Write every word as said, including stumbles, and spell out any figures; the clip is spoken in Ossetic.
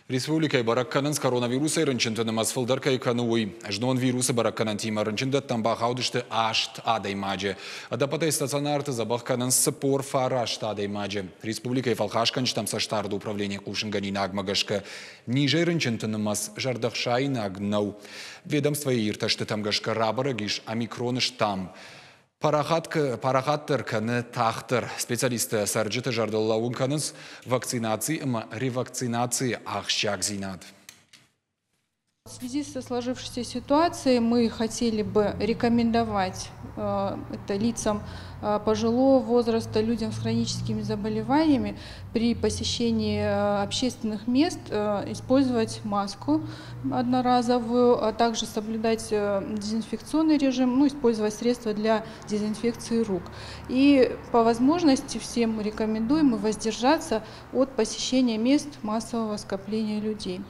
Республикӕйы бӕрӕг кӕнынц, коронавирусӕй рынчынты нымӕц фылдӕр кӕй кӕны, уый. Знон вирусы бӕрӕггӕнӕнтимӕ рынчындӕттӕм бахаудысты аст адӕймаджы. Ӕдӕппӕтӕй стационарты дзӕбӕх кӕнынц цыппор фараст адӕймаджы. Республикӕйы фӕлхасгӕнджытӕм цӕстдарды управленийы хъусынгӕнинагмӕ гӕсгӕ низӕй рынчынты нымӕц зӕрдӕхсаинаг нӕу. Ведомствойы иртӕстытӕм гӕсгӕ рабӕрӕг ис омикроны штамм. Парахатдӕр кӕны тагъддӕр. Специалисттӕ цӕрджыты зӕрдыл лӕууын кӕнынц вакцинаци ӕмӕ ревакцинацийы ахсджиагдзинад. В связи со сложившейся ситуацией мы хотели бы рекомендовать э, это лицам э, пожилого возраста, людям с хроническими заболеваниями при посещении э, общественных мест использовать маску одноразовую, а также соблюдать дезинфекционный режим, ну, использовать средства для дезинфекции рук. И по возможности всем рекомендуем воздержаться от посещения мест массового скопления людей.